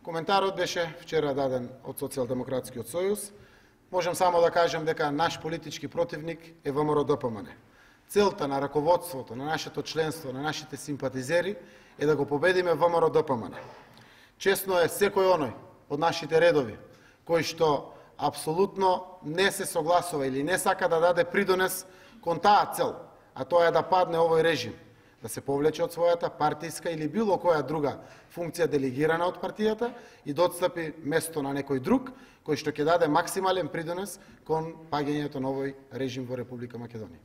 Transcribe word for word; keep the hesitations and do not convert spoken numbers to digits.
Коментарот беше вчера даден од Социјалдемократскиот сојуз. Можем само да кажем дека наш политички противник е ВМРО-ДПМН. Целта на раководството, на нашето членство, на нашите симпатизери е да го победиме ВМРО-ДПМН. Честно е секој оној од нашите редови кој што апсолутно не се согласува или не сака да даде придонес кон таа цел, а тоа е да падне овој режим, да се повлече од својата партиска или било која друга функција делегирана од партијата и да отстапи место на некој друг кој што ќе даде максимален придонес кон паѓањето на овој режим во Република Македонија.